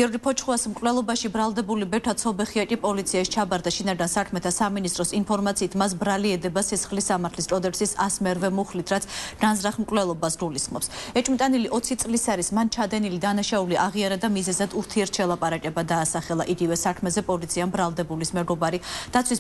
გიორგი ფოჩხუას მკვლელობაში ბრალდებული ბეთა ცობეხია კი პოლიციის ჩაბარდა შინაგან საქმეთა სამინისტროს ინფორმაციით მას ბრალი ედება სისხლის სამართლის კოდექსის 108 მუხლით, რაც განზრახ მკვლელობას გულისხმობს. ეჭვმიტანილი 20 წლის არის მან ჩადენილი დანაშაული აღიარა და მიზეზად ურთიერთშელაპარაკება დაასახელა იგივე საქმეზე პოლიციამ ბრალდებულის მეგობარი დაცვის